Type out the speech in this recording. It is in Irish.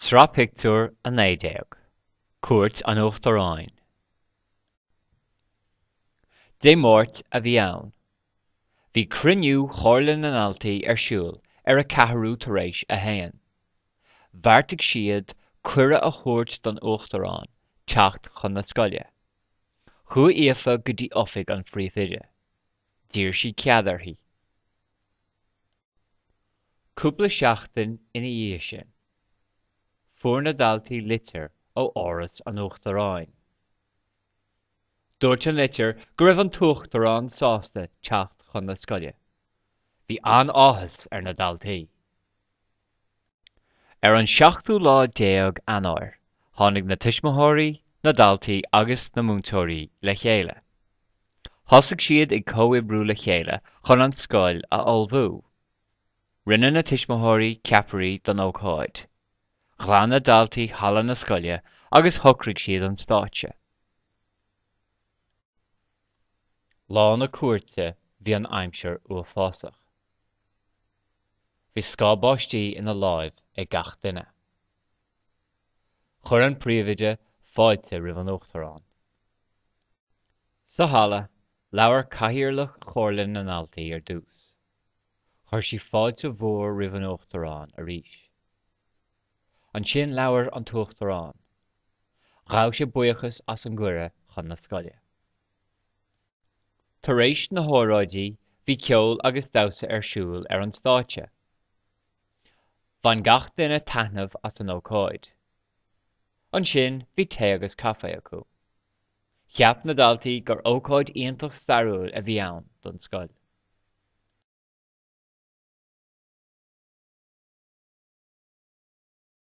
Sraith Pictiúr 19, Cuairt an Uachtaráin. Dé Máirt a bhí ann. Bhí cruinniú Chomhairle na nDaltaí ar siúl ar a ceathrú tar éis a haon. Bheartaigh siad cuireadh a thabhairt don Uachtarán teacht chun na scoile. Chuaigh Aoife go dtí oifig an phríomhoide. D'iarr sí cead uirthi. Cúpla seachtain ina dhiaidh sin, fuair na daltaí litir ó Áras an Uachtaráin. Dúirt an litir go raibh an tUachtarán sásta teacht chun na scoile. Bhí an-áthas ar na daltaí. Ar an seachtú lá déag Eanáir, tháinig na tuismitheoirí, na daltaí agus na múinteoirí le chéile. Thosaigh siad ag comhoibriú le chéile chun an scoil a ullmhú. Rinne na tuismitheoirí ceapairí don ócáid. Ghlan na daltaí halla na scoile agus shocraigh siad an stáitse. Lá na cuairte bhí an aimsir uafásach. Bhí scáth báistí ina láimh ag gach duine. Chuir an príomhoide fáilte roimh an Uachtarán. Sa halla, labhair Cathaoirleach Chomhairle na nDaltaí ar dtús. Chuir sí fáilte mhór roimh an Uachtarán arís. Ansin labhair an tUachtarán. Ghabh sé buíochas as an gcuireadh chun na scoile. Tar éis na hóráidí, bhí ceol agus damhsa ar siúl ar an stáitse. Bhain gach duine taitneamh as an ócáid. Ansin bhí tae agus caife acu. Cheap na daltaí gur ócáid iontach stairiúil a bhí ann don scoil.